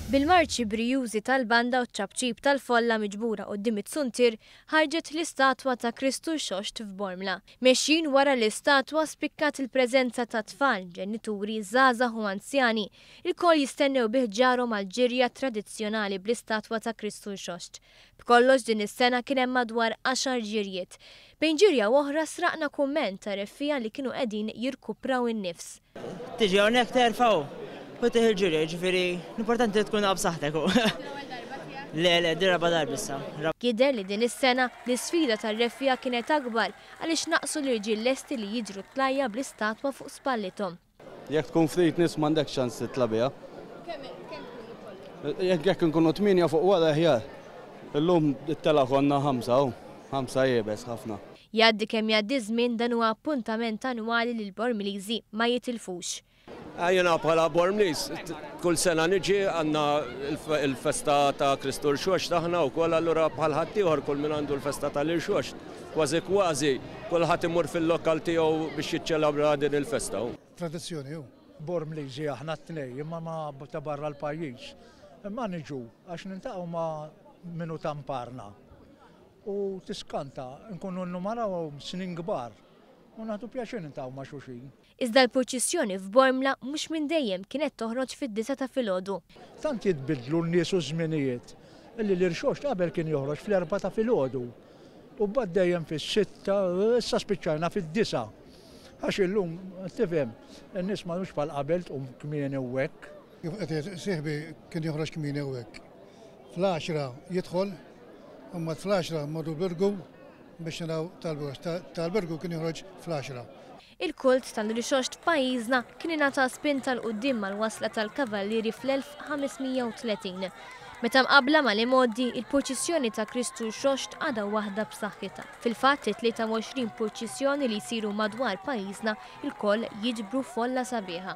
Bil-marċi brijużi tal-banda u ċ-ċapċip tal-folla miġbura quddiem iz-zuntier, ħarġet l-istatwa ta' Kristu Rxoxt f'Bormla. Mexjin wara l-istatwa spikkat il-preżenza ta' tfal, ġenituri, żgħażagħ u anzjani, ilkoll jistennew bi ħġarhom għall-ġirja tradizzjonali bl-istatwa ta' Kristu Rxoxt. B'kollox din is-sena kien hemm madwar għaxar ġirjiet. Bejn ġirja u oħra sraqna kumment ta' reffiegħa li kienu qegħdin jirkupraw in-nifs. Tiġi hawnhekk terfa' u u tieħu l-ġirja, jiġifieri l-importanti li tkun b'saħħtek. Le, le, din raba' darba issa. Jidher li din is-sena l-isfida tar-reffiegħa kienet akbar għaliex naqsu l-irġiel lesti li jiġru tlajja bl-istatwa fuq spallithom. Jekk tkun ftit nies m'għandekx ċans titla' biha. Kemm tkunu kollha? Jekk inkunu tmienja fuq wara aħjar. Illum it-telgħa konna ħamsa hu, ħamsa iebes ħafna. Jgħaddi kemm jgħaddi ż-żmien dan huwa appuntament annwali li l-Bormliżi ma jitilfux. Jiena bħala Bormliż kull sena niġi għandna l-festa ta' Kristu Rxoxt aħna wkoll allura bħal ħaddieħor kull min għandu l-festa tal-Irxoxt kważi kważi kulħadd imur fil-lokal tiegħu biex jiċċelebra din il-festa. Tradizzjoni hu. Bormliżi aħna t-tnejn imma ma ta' barra l-pajjiż. Imma niġu għax niltaqgħu ma' min hu ta' mparna. U tiskanta, nkunu nnumarawhom snin kbar u naħdu pjaċir niltaqgħu ma' xulxin. Iżda l-purċissjoni f'Bormla mhux minn dejjem kienet toħroġ fid-disgħa ta' filgħodu. Tant jitbiddlu n-nies u ż-żminijiet illi l-irxoxt qabel kien joħroġ fl-erbgħa ta' filgħodu u mbagħad dejjem fis-sitta, issa spiċċajna fid-disgħa. Għax illum, tifhem, in-nies m'għadhomx bħal qabel tqum kmieni u hekk. Kif qed jgħid sieħbi kien joħroġ kmieni u hekk. Fl-għaxra jidħol, u mbagħad fl-għaxra mmorru l-Birgu biex naraw tal-Birgu, għax tal-Birgu kien joħroġ fl-għaxra. Il-kult tal-Rixoxt f'pajjiżna kien ingħata spinta 'l quddiem mal-wasla tal-Kavallieri fl-1530. Meta mqabbla mal-imgħoddi, il-purċissjoni ta' Kristu Rxoxt għadha waħda b'saħħitha. Fil-fatt, it-23 purċissjoni li jsiru madwar pajjiżna lkoll jiġbru folla sabiħa.